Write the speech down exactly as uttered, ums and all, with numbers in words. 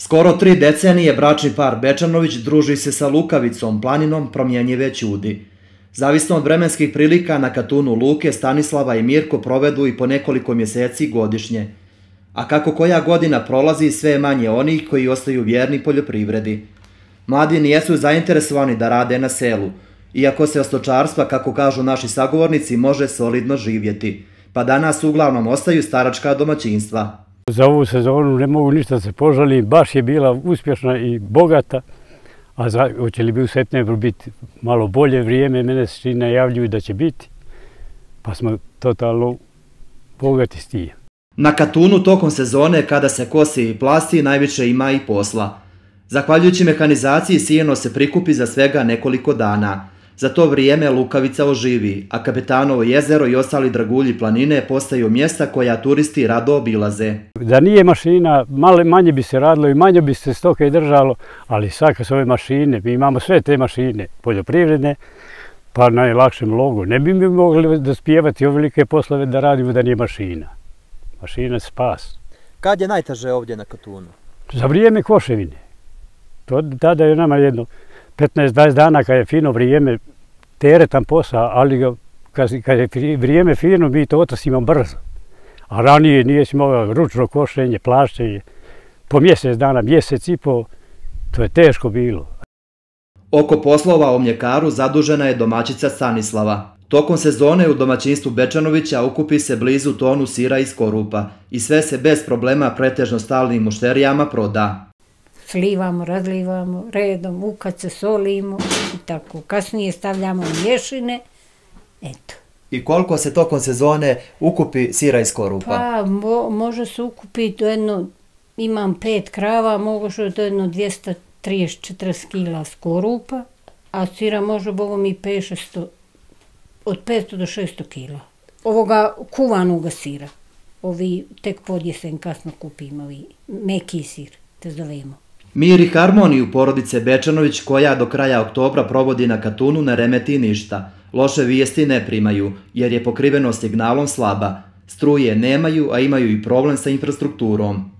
Skoro tri decenije bračni par Bečanović druži se sa Lukavicom, planinom promjenjive ćudi. Zavisno od vremenskih prilika na Katunu Luke, Stanislava i Mirko provedu i po nekoliko mjeseci godišnje. A kako koja godina prolazi, sve je manje onih koji ostaju vjerni poljoprivredi. Mladi nijesu zainteresovani da rade na selu, iako se od stočarstva, kako kažu naši sagovornici, može solidno živjeti, pa danas uglavnom ostaju staračka domaćinstva. Za ovu sezonu ne mogu ništa se požalim, baš je bila uspješna i bogata, a za, hoće li bi u septembru biti malo bolje vrijeme, mene se svi najavljuju da će biti, pa smo totalno bogati s tim. Na Katunu tokom sezone, kada se kosi i plasti, najviše ima i posla. Zahvaljujući mehanizaciji, sijeno se prikupi za svega nekoliko dana. Za to vrijeme Lukavica oživi, a Kapetanovo jezero i ostali dragulji planine postaju mjesta koja turisti rado obilaze. Da nije mašina, malo manje bi se radilo i manje bi se stoke držalo, ali svaka su ove mašine, mi imamo sve te mašine poljoprivredne, pa najlakšem logu. Ne bi mi mogli da spjevati ovelike poslove da radimo da nije mašina. Mašina je spas. Kad je najteže ovdje na Katunu? Za vrijeme koševine. To, tada je nama jedno petnaest dvadeset dana kad je fino vrijeme, teretan posao, ali ga, kad, kad je vrijeme fino, mi to otasimo brzo. A ranije nije si mogao ručno košenje, plaštenje, po mjesec dana, mjesec i po, to je teško bilo. Oko poslova o mljekaru zadužena je domaćica Stanislava. Tokom sezone u domaćinstvu Bečanovića ukupi se blizu tonu sira iz Korupa i sve se bez problema pretežno stalnim mušterijama proda. Slivamo, razlivamo, redom, ukad se solimo i tako. Kasnije stavljamo mješine, eto. I koliko se tokom sezone ukupi sira iz Korupa? Pa mo, može se ukupiti do jedno, imam pet krava, može do jedno dvjesto trideset do četrdeset kila Korupa, a sira može bogom i pet šest, od petsto do šesto kila. Ovoga kuvanoga sira, ovi tek pod jesen kasno kupimo, ovi meki sir, te zovemo. Mir i harmoniju porodice Bečanović, koja do kraja oktobra provodi na Katunu, ne remeti ništa. Loše vijesti ne primaju, jer je pokrivenost signalom slaba. Struje nemaju, a imaju i problem sa infrastrukturom.